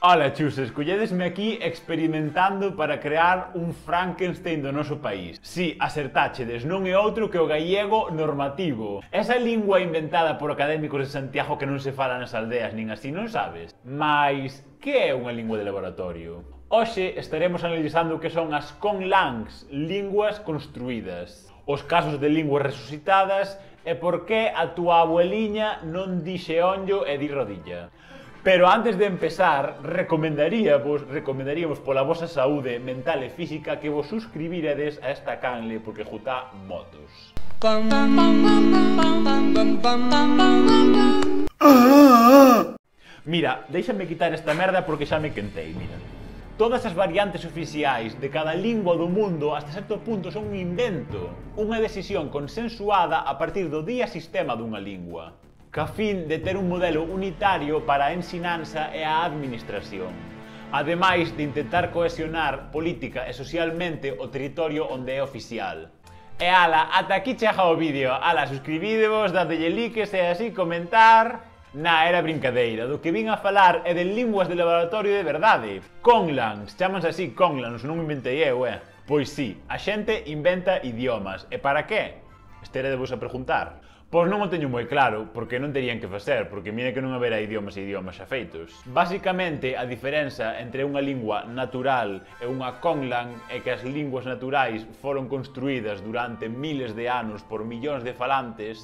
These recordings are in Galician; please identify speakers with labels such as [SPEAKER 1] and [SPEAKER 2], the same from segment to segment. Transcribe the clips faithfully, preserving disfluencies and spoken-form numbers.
[SPEAKER 1] Ola, chusas, colledesme aquí experimentando para crear un Frankenstein do noso país. Si, acertáchedes, non é outro que o gallego normativo. Esa lingua inventada por académicos de Santiago que non se fala nas aldeas nin así, non sabes? Mais, que é unha lingua de laboratorio? Hoxe estaremos analizando o que son as conlangs, linguas construídas, os casos de linguas resucitadas e por que a túa abueliña non di xeonllo e di rodilla. Pero antes de empezar, recomendaríamos, recomendaríamos pola vosa saúde mental e física que vos suscribiredes a esta canle porque jutá motos. Mira, déixame quitar esta merda porque xa me quentei, mira. Todas as variantes oficiais de cada lingua do mundo hasta certo punto son un invento, unha decisión consensuada a partir do día sistema dunha lingua, ca fin de ter un modelo unitario para a ensinanza e a administración, ademais de intentar cohesionar política e socialmente o territorio onde é oficial. E ala, ata aquí chega o vídeo, ala, suscribidevos, dadelle likes e así comentar... Na, era brincadeira, do que vin a falar é de linguas de laboratorio de verdade. Conlangs, chamanse así conlangs, non me inventei eu, eh? Pois sí, a xente inventa idiomas, e para que? Esteredevos a preguntar. Pois non o teño moi claro, porque non terían que facer, porque mira que non haberá idiomas e idiomas xa feitos. Basicamente, a diferenza entre unha lingua natural e unha conlang é que as linguas naturais foron construídas durante miles de anos por millóns de falantes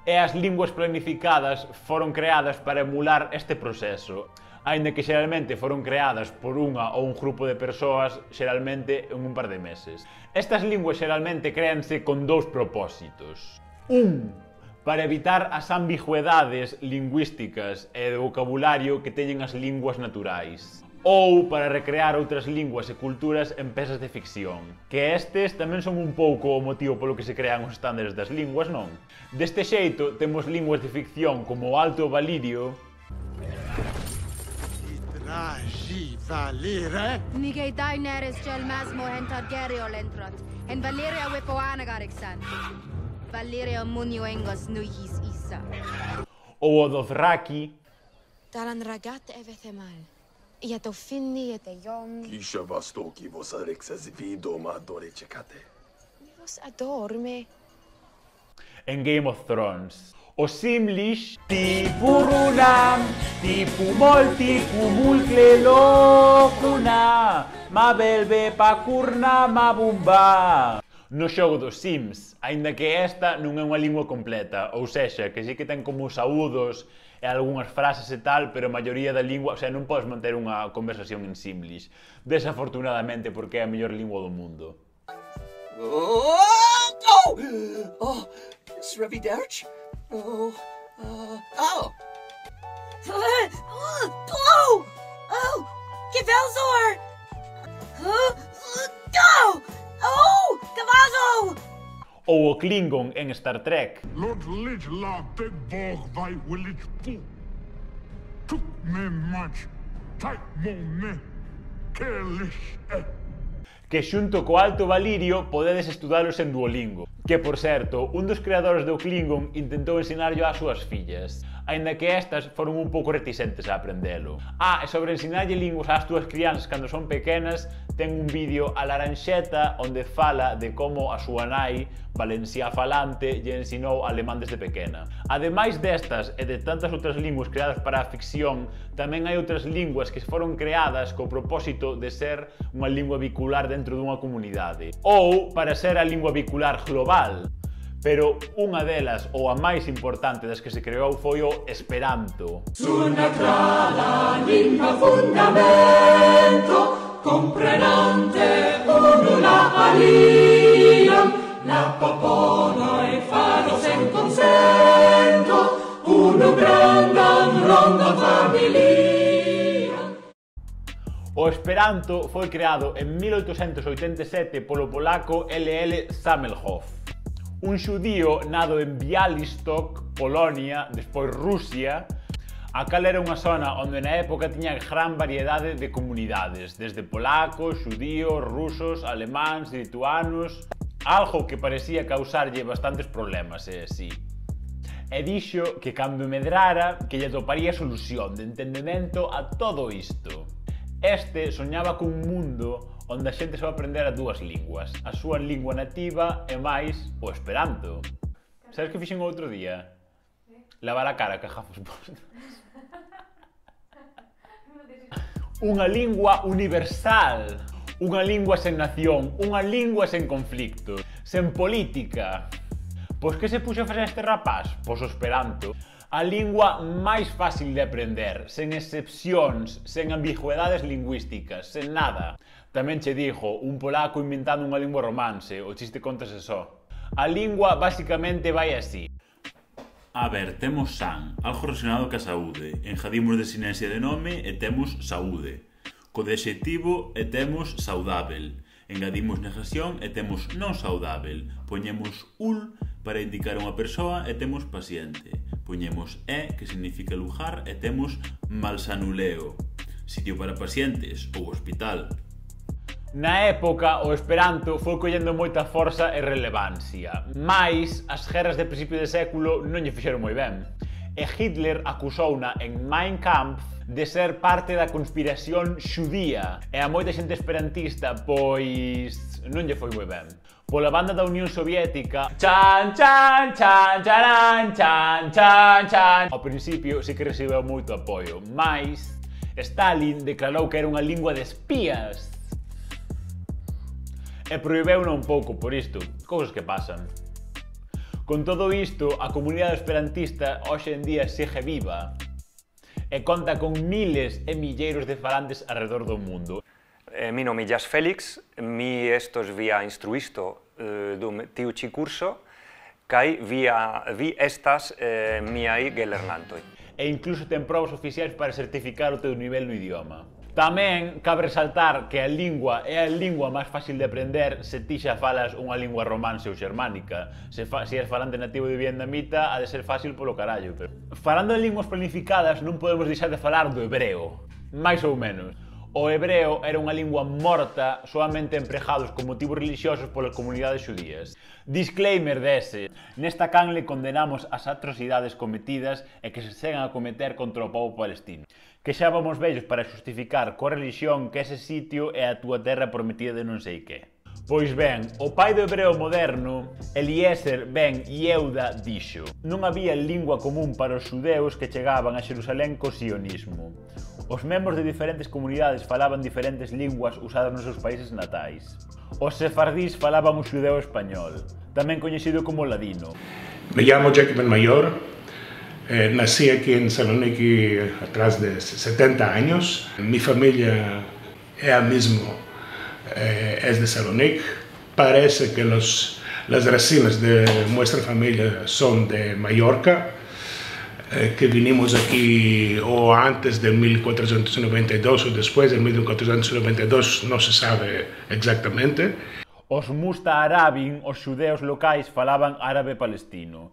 [SPEAKER 1] e as linguas planificadas foron creadas para emular este proceso, aínda que xeralmente foron creadas por unha ou un grupo de persoas, xeralmente en un par de meses. Estas linguas xeralmente créanse con dous propósitos. Un, para evitar as ambigüedades lingüísticas e de vocabulario que teñen as linguas naturais, ou para recrear outras linguas e culturas en pezas de ficción, que estes tamén son un pouco o motivo polo que se crean os estándares das linguas, non? Deste xeito, temos linguas de ficción como o Alto Valirio,
[SPEAKER 2] Nigei Daenerys Gelmasmo en Targaryen Lentrot, en Valeria Wipoanagarixan, Valeria Munioengos Nuihis Isa.
[SPEAKER 1] ou o Dothraki,
[SPEAKER 2] Taran Ragat Evethemal. Ja to finni et jon.
[SPEAKER 3] Kisha vastoki vos arexas vido ma adore cecate.
[SPEAKER 2] Vos adorme.
[SPEAKER 1] en Game of Thrones. O Simlish, Tipurunam, Tipumol, Tipumulcle Locuna, Ma Belbe Pacurna, Ma Bumba. No xogo dos Sims, aínda que esta non é unha lingua completa, ou sexa, que sí que ten como saúdos e algunhas frases e tal, pero a maioría da lingua, o sea, non podes manter unha conversación en Simlish, desafortunadamente, porque é a mellor lingua do mundo.
[SPEAKER 4] Oh, oh, oh, Sreviderch? Oh, uh, oh. Oh, oh, Gavelzor! Oh, oh, oh, Gavazo!
[SPEAKER 1] Ou o Klingon en Star Trek.
[SPEAKER 5] Lord Lidla beg bog vai willich pu. Tuk me much, tight mo me, kelish e.
[SPEAKER 1] Que xunto co Alto Valirio podedes estudalos en Duolingo. Que, por certo, un dos creadores do Klingon intentou ensinarlo ás súas fillas, aínda que estas foron un pouco reticentes a aprendelo. Ah, e sobre ensinarlle linguas ás túas crianzas cando son pequenas, ten un vídeo a Laranxeta onde fala de como a súa nai, valenciá falante, lle ensinou alemán desde pequena. Ademais destas e de tantas outras linguas creadas para a ficción, tamén hai outras linguas que foron creadas co propósito de ser unha lingua bicular dentro dunha comunidade, ou para ser a lingua bicular global. Pero unha delas, ou a máis importante das que se creou, foi o Esperanto.
[SPEAKER 6] Sunatrala lingua fundamento, comprenante unula aliam, la popolo e faros en consento, uno grandam rondam familiam.
[SPEAKER 1] O Esperanto foi creado en mil oitocentos oitenta e sete polo polaco L L Zamenhof, un xudío nado en Bialystok, Polonia, despois Rusia, a cal era unha zona onde na época tiña gran variedade de comunidades, desde polacos, xudíos, rusos, alemáns, lituanos, algo que parecía causarlle bastantes problemas, e así. E dixo que cando medrara que lle toparía solución de entendemento a todo isto. Este soñaba cun mundo onde a xente só aprendera dúas linguas, a súa lingua nativa e máis o esperanto. Sabes que fixen outro día? Lavar a cara que gafos postos. Unha lingua universal, unha lingua sen nación, unha lingua sen conflicto, sen política. Pois que se puxo a facer este rapaz? Pois o esperanto. A lingua máis fácil de aprender, sen excepcións, sen ambigüedades lingüísticas, sen nada. Tamén che dixo, un polaco inventando unha lingua romance, o chiste contase só. A lingua basicamente vai así.
[SPEAKER 7] A ver, temos san, algo relacionado ca saúde. Enjadimos desinencia de nome e temos saúde. Co de adxetivo e temos saudável. Engadimos negación e temos non saudável. Poñemos ul para indicar unha persoa e temos paciente. Poñemos e, que significa lugar, e temos malsanuleo, sitio para pacientes ou hospital.
[SPEAKER 1] Na época, o esperanto foi collendo moita forza e relevancia, mais as guerras de principio de século non lle fixeron moi ben. E Hitler acusouna en Mein Kampf de ser parte da conspiración xudía, e a moita xente esperantista, pois, non lle foi moi ben. Pola banda da Unión Soviética, chan chan chan charan chan chan chan. Ao principio sí que recibeu moito apoio, mais Stalin declarou que era unha lingua de espías e prohibeuna un pouco por isto, cousas que pasan. Con todo isto, a comunidade esperantista hoxe en día segue viva e conta con miles e milleiros de falantes alrededor do mundo.
[SPEAKER 8] Eh, mi nome é Félix, mi estos via instruisto eh, dum tiu ci curso, kai via vi estas eh, miai gelernantoi.
[SPEAKER 1] E incluso ten probas oficiais para certificar o teu nivel no idioma. Tamén cabe resaltar que a lingua é a lingua máis fácil de aprender se ti xa falas unha lingua romance ou xermánica. Se, fa, se és falante nativo de vietnamita, ha de ser fácil polo carallo. Pero... Falando de linguas planificadas, non podemos deixar de falar do hebreo. Mais ou menos. O hebreo era unha lingua morta soamente empregados con motivos religiosos polas comunidades xudías. Disclaimer dese, nesta canle condenamos as atrocidades cometidas e que se seguen a cometer contra o povo palestino. Que xa vamos vellos para justificar coa religión que ese sitio é a túa terra prometida de non sei que. Pois ben, o pai do hebreo moderno, Eliezer ben Yehuda, dixo: non había lingua común para os xudeus que chegaban a Xerusalén co sionismo. Os membros de diferentes comunidades falaban diferentes linguas usadas nos seus países natais. Os sefardís falaban o xudeo español, tamén coñecido como ladino.
[SPEAKER 9] Me llamo Jacob Mayor, eh, nací aquí en Saloniki atrás de setenta años. Mi familia é a mismo, eh, es de Salonic. Parece que los, las raíces de nuestra familia son de Mallorca, eh, que vinimos aquí o antes de mil cuatrocientos noventa y dos o después de mil cuatrocientos noventa y dos, no se sabe exactamente.
[SPEAKER 1] Os Musta-Arabin, os xudeos locais, falaban árabe palestino.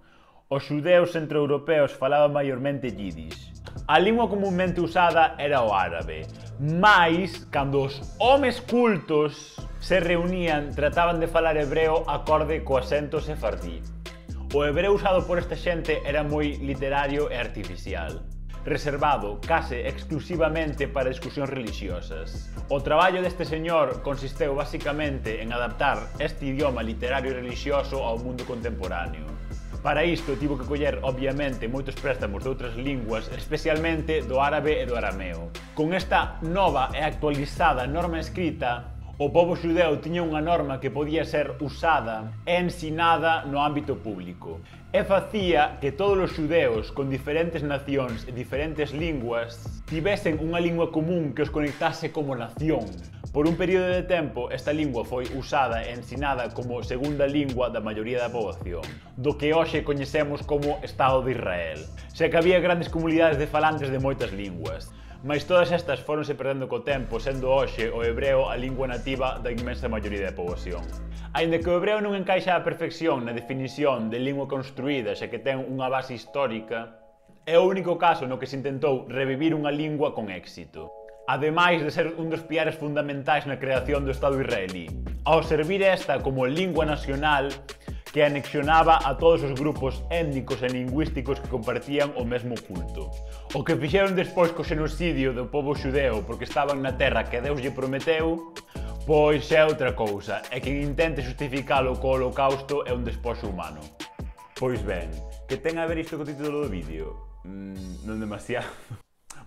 [SPEAKER 1] Os xudeos centroeuropeos falaban maiormente yiddish. A lingua comúnmente usada era o árabe, mais, cando os homes cultos se reunían, trataban de falar hebreo acorde co acento sefardí. O hebreo usado por esta xente era moi literario e artificial, reservado case exclusivamente para discusións religiosas. O traballo deste señor consisteu basicamente en adaptar este idioma literario e religioso ao mundo contemporáneo. Para isto tivo que coller, obviamente, moitos préstamos de outras linguas, especialmente do árabe e do arameo. Con esta nova e actualizada norma escrita, o pobo xudeu tiña unha norma que podía ser usada e ensinada no ámbito público. E facía que todos os xudeus con diferentes nacións e diferentes linguas tivesen unha lingua común que os conectase como nación. Por un período de tempo, esta lingua foi usada e ensinada como segunda lingua da maioría da poboación, do que hoxe coñecemos como Estado de Israel. Xa que había grandes comunidades de falantes de moitas linguas, mais todas estas foronse perdendo co tempo, sendo hoxe o hebreo a lingua nativa da inmensa maioría da poboación. Aínda que o hebreo non encaixa á perfección na definición de lingua construída, xa que ten unha base histórica, é o único caso no que se intentou revivir unha lingua con éxito, ademais de ser un dos piares fundamentais na creación do Estado israelí. Ao servir esta como lingua nacional, que anexionaba a todos os grupos étnicos e lingüísticos que compartían o mesmo culto. O que fixeron despois co xenocidio do pobo xudeo porque estaban na terra que Deus lle prometeu, pois é outra cousa, e quen intente justificalo co holocausto é un despoxo humano. Pois ben, que ten a ver isto co título do vídeo? Mm, non demasiado.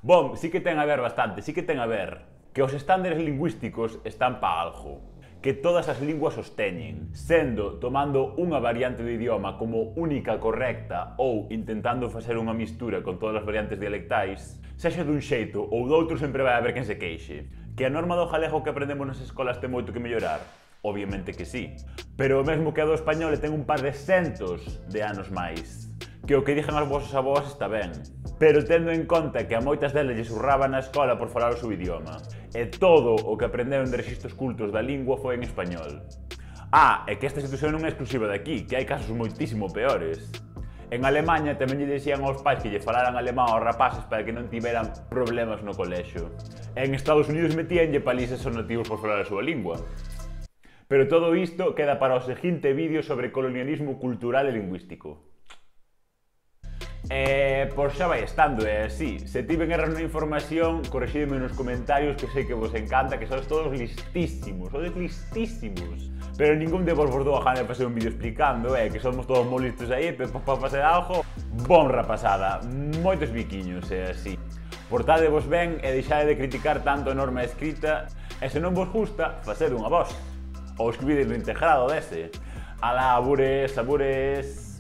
[SPEAKER 1] Bom, sí que ten a ver bastante, sí que ten a ver que os estándares lingüísticos están pa algo, que todas as linguas os teñen, sendo tomando unha variante do idioma como única correcta ou intentando facer unha mistura con todas as variantes dialectais, sexa dun xeito ou doutro sempre vai haber quen se queixe. Que a norma do galego que aprendemos nas escolas ten moito que mellorar? Obviamente que sí, pero o mesmo que a do español ten un par de centos de anos máis. Que o que dixen as vosas avós está ben, pero tendo en conta que a moitas delas lle surraba na escola por falar o seu idioma, e todo o que aprenderon de rexistros cultos da lingua foi en español. Ah, e que esta situación non é exclusiva de aquí, que hai casos moitísimo peores. En Alemanha tamén lle dixían aos pais que lle falaran alemán aos rapaces para que non tiveran problemas no colexio. En Estados Unidos metíanlle palizas aos nativos por falar a súa lingua. Pero todo isto queda para o seguinte vídeo sobre colonialismo cultural e lingüístico. E, por xa vai estando, é así. Se tiven erros na información, correxídeme nos comentarios que sei que vos encanta, que sois todos listísimos, sois listísimos. Pero ningún de vos vos dou a gana de facer un vídeo explicando, eh, que somos todos moi listos aí, pero para facer algo, bon rapasada, moitos biquiños, é así. Portadevos ben e deixade de criticar tanto a norma escrita, e se non vos gusta, facede unha voz. Ou escribide no integrado dese. Alá, abures, abures...